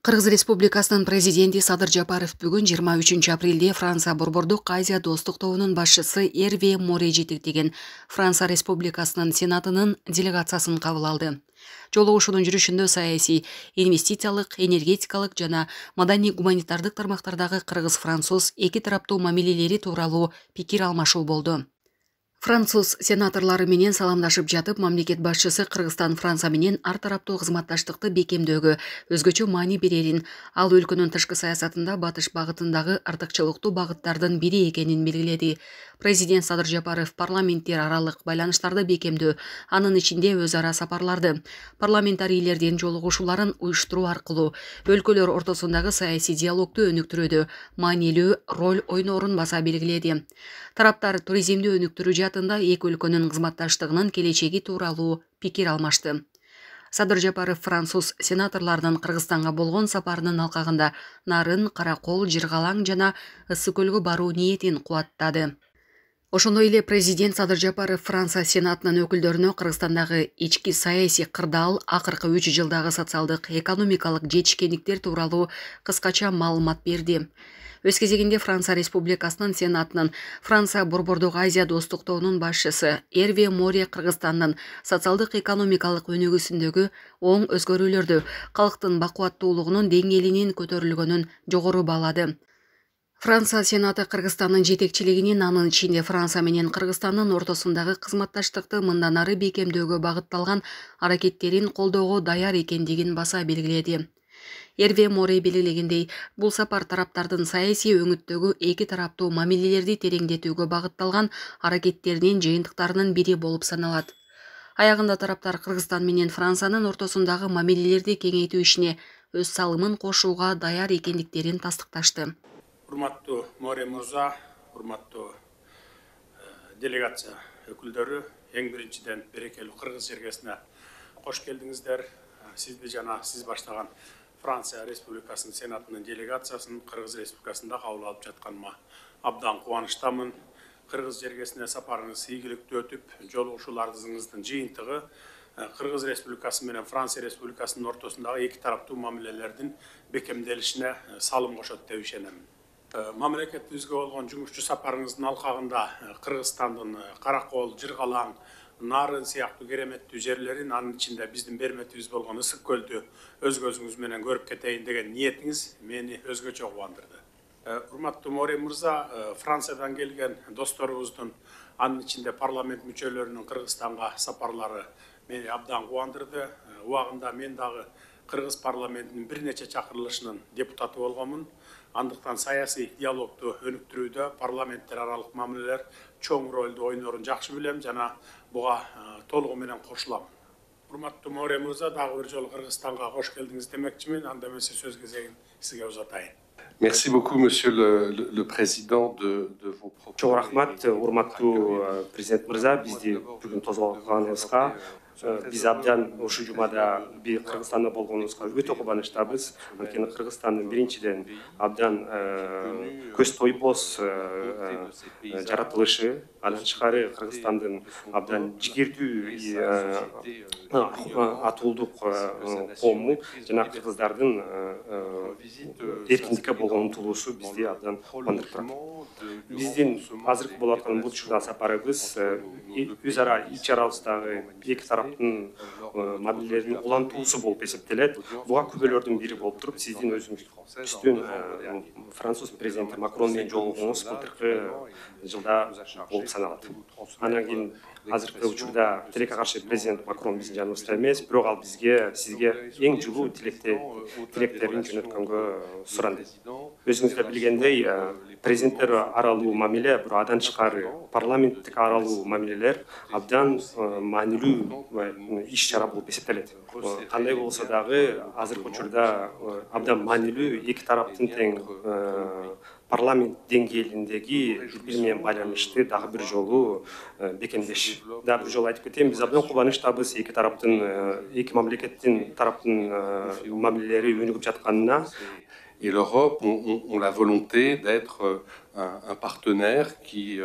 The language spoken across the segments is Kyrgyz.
Кыргыз Республикасынын президенти Садыр Жапаров бүгүн 23 апрелде Франция Борбордук Азия достук тобунун башчысы Эрве Море жетектеген Франция Республикасынын Сенатынын делегациясын кабыл алды. Жолугушуунун жүрүшүндө саясий, инвестициялык, энергетикалык жана маданий-гуманитардык тармактардагы кыргыз-француз эки тараптуу мамилелери тууралуу пикир алмашуу болду. Француз сенаторлору менен саламдашып жатып, мамлекет башчысы Кыргызстан Франция менен ар тараптуу кызматташтыкты бекемдөөгө өзгөчө маани берерин, ал өлкөнүн тышкы саясатында батыш багытындагы артыкчылыктуу багыттардын бири экенин белгиледи. Президент Садыр Жапаров парламенттер аралык байланыштарды бекемдөө, анын ичинде өз ара сапарларды, парламентарийлердин жолугушууларын уюштуруу аркылуу өлкөлөр ортосундагы саясий диалогду өнүктүрүүдө маанилүү роль ойноорун баса белгиледи. Тараптар туризмди өнүктүрүү жаатында эки өлкөнүн кызматташтыгынын келечеги тууралуу пикир алмашты. Садыр Жапаров француз сенаторлордун Кыргызстанга болгон сапарынын алкагында Нарын, Каракол, Жыргалаң жана Ысык көлгө баруу ниетин кубаттады. Ошондой эле президент Садыр Жапаров Франция сенатынын өкүлдөрүнө Кыргызстандагы ички саясий кырдаал, акыркы 3 жылдагы социалдык, экономикалык жетишкендиктер тууралуу кыскача маалымат берди. Өз кезегинде Франция Республикасынын Сенатынын Франция Борбордук Азия достук тобунун башчысы Эрве Море Кыргызстандын социалдык экономикалык өнүгүүсүндөгү оң өзгөрүүлөрдү, калктын бакубаттуулугунун деңгээлинин көтөрүлгөнүн жогору баалады. Франция Сенаты Кыргызстандын жетекчилигинин, анын ичинде Франция менен Кыргызстандын ортосундагы кызматташтыкты мындан ары бекемдөөгө багытталган аракеттерин колдоого даяр экендигин баса белгиледи. Эрве Море белгилегендей, бул сапар тараптардын саясий өңүттөгү эки тараптуу мамилелерди тереңдетүүгө багытталган аракеттеринин жыйынтыктарынын бири болуп саналат. Аягында тараптар Кыргызстан менен Франциянын ортосундагы мамилелерди кеңейтүү ишине өз салымын кошууга даяр экендиктерин тастыкташты. Урматтуу Море мырза, урматтуу делегация өкүлдөрү, эң биринчиден берекелүү Кыргыз жергесине кош келдиңиздер. Сизди жана сиз баштаган Франция Республикасынын Сенатынын делегациясын Кыргыз Республикасында кабыл алып жатканыма абдан кубанычтамын. Кыргыз жергесине сапарыңыз ийгиликтүү өтүп, жолугушууларыңыздын жыйынтыгы Кыргыз Республикасы менен Франция Республикасынын ортосундагы эки тараптуу мамилелердин бекемделишине салым кошот деп ишенем. Мамлекетибизге болгон жумушчу сапарыңыздын алкагында Кыргызстандын Каракол, Жыргалаң, Нарын сыяктуу кереметтүү жерлерин, анын ичинде биздин берметибиз болгон Ысык көлдү өз көзүңүз менен көрүп кетейин деген ниетиңиз мени өзгөчө кубандырды. Урматтуу Море мырза, Франциядан келген досторубуздун, анын ичинде парламент мүчөлөрүнүн Кыргызстанга сапарлары мени абдан кубандырды. Убагында мен дагы Кыргыз парламентинин бир нече чакырылышынын депутаты болгонмун. Андыктан саясий диалогду өнүктүрүүдө парламенттер аралык мамилелер чоң ролду ойнорун жакшы билем жана буга толугу менен кошулам. Урматтуу Море мырза, дагы бир жолу Кыргызстанга кош келдиңиз демекчимин. Анда эмесе сөз кезегин сизге узатайын. Merci beaucoup, Monsieur le Président, de vos propos. Чоң рахмат, урматтуу президент мырза, бизди бүгүн тозгоганыңызга. Биз абдан ушул жумада Кыргызстанда болгонубузга өтө кубанычтабыз. Анткени Кыргызстандын биринчиден абдан көз тойбоз жаратылышы, андан тышкары Кыргызстандын абдан жигердүү атуулдук коому жана кыргыздардын эркиндикке болгон умтулуусу бизди абдан кубандырып турат. Биздин азыркы болуп аткан бул учурда сапарыбыз өз ара ич арабыздагы эки тараптын мамилелеринин улантуусу болуп эсептелет. Буга күбөлөрдүн бири болуп туруп, сиздин өзүңүздүн француз президенти Макрон менен жолугуңуз былтыркы жылда болуп саналат. Анан кийин азыркы учурда тилекке каршы президент Макрон биздин жаныбызда эмес, бирок ал сизге эң жылуу тилектерин жөнөткөнгө суранды. Өзүңүз да билгендей, президенттер аралуу мамиле, бирок андан тышкары парламенттик аралуу мамилелер абдан маанилүү иш-чара болуп эсептелет. Кандай болсо дагы азыркы учурда абдан маанилүү эки тараптын тең парламент деңгээлиндеги бири-бири менен байланышты дагы бир жолу бекемдеш. Дагы бир жолу айтып кетейин, биз абдан кубанычтабыз эки мамлекеттин тараптын мамилелери өнүгүп жатканына. Et l'Europe ont la volonté d'être un partenaire qui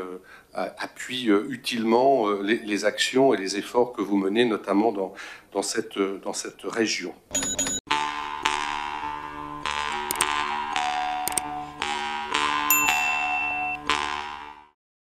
appuie utilement les actions et les efforts que vous menez, notamment dans cette région.